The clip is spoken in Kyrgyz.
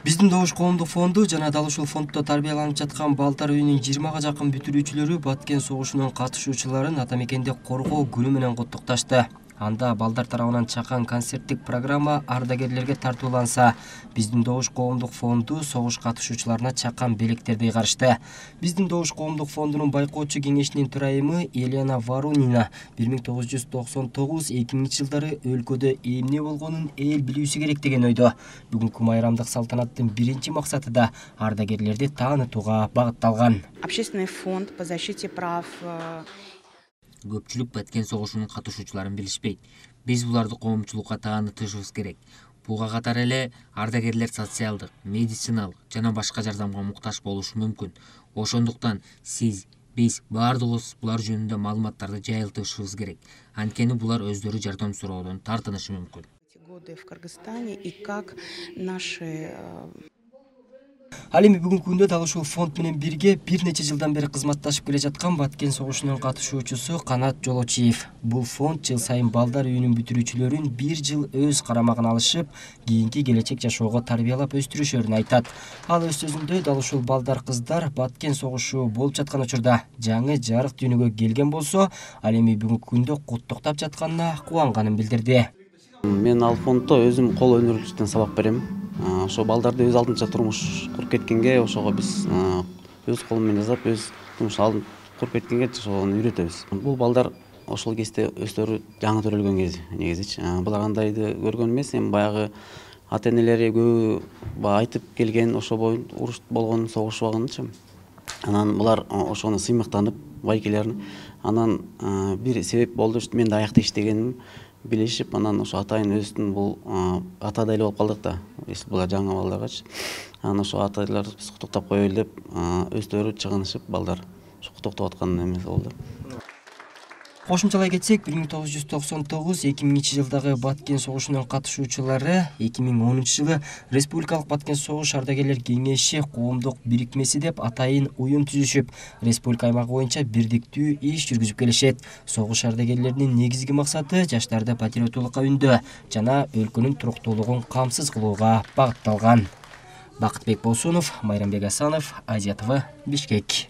Биздин Добуш коомдук фонду жана дал ушул фонддо тарбияланып жаткан балдар үйүнүн 20га жакын бүтүрүүчүлөрү Баткен согушунун катышуучуларын ата мекенди коргоо күнү менен куттукташты. Анда балдар тарабынан чакан концерттик программа ардагерлерге тартууланса, биздин Добуш коомдук фонду согуш катышуучуларына чакан белектерди ыйгарышты. Биздин Добуш коомдук фондунун байкоочу кеңешинин төрайымы Елена Варунина 1999-2000 жылдары өлкөдө эмне болгонун эл билүүсү керек деген ойдо. Бүгүнкү майрамдык салтанаттын биринчи максаты да ардагерлерди таанытууга багытталган. Общественный фонд по защите прав. Көпчүлүк Баткен согушунун катышуучуларын билишпейт. Биз буларды коомчулукка таанытышыбыз керек. Буга катар эле ардагерлер социалдык, медициналык жана башка жардамга муктаж болушу мүмкүн. Ошондуктан биз баардыгыбыз булар жөнүндө маалыматтарды жайылтышыбыз керек. Анткени булар өздөрү жардам суроодон тартынышы мүмкүн. Годы в Кыргызстане и как наши. Ал эми бүгүнкү күндө дал ушул фонд менен бирге бир нече жылдан бери кызматташып келе жаткан Баткен согушунун катышуучусу Канат Жолочиев. Бул фонд жыл сайын балдар үйүнүн бүтүрүүчүлөрүн бир жыл өз карамагына алышып, кийинки келечек жашоого тарбиялап өстүрүшөрүн айтат. Ал өз сөзүндө дал ушул балдар кыздар Баткен согушу болуп жаткан учурда жаңы жарык дүйнөгө келген болсо, ал эми бүгүнкү күндө куттуктап жатканына кубанганын билдирди. Мен ал фонддо өзүм кол өнөрчүлүктөн сабак берем. Ошо балдарды өз алдынча турмуш куруп кеткенге, ошого биз өз колу менен жасап, өз турмуш алдын куруп кеткенге ошону үйрөтөбүз. Бул балдар ошол кезде өздөрү жаңы төрөлгөн кез негизичи. Булар андайды көргөн эмес, эми баягы ата-энелери көбү айтып келген, ошо боюн уруш болгон, согушпагынчы. Анан булар ошону сыймыктанып, байкелерин, анан бир себеп болду, мен да аякта иштегеним билишип, анан ошо атайын өздүн бул атадай эле болуп калдык да. Булар жаңы балдаргачы. Анан ошо атайларды биз куттуктап коелу деп, өздөрү чыгынышып, балдар ошо куттуктап аткан эмес болду. Кошумчалай кетсек, 1999-2000 жылдагы Баткен согушунун катышуучулары 2010 жылы Республикалык Баткен согуш ардагерлер кеңеши коомдук бирикмеси деп атайын уюм түзүшүп, республика аймагы боюнча бирдиктүү иш жүргүзүп келишет. Согуш ардагерлеринин негизги максаты жаштарды патриоттуулукка үндөө жана өлкөнүн туруктуулугун камсыз кылууга багытталган. Бакытбек Болсунов, Майрамбек Асанов, Азия ТВ, Бишкек.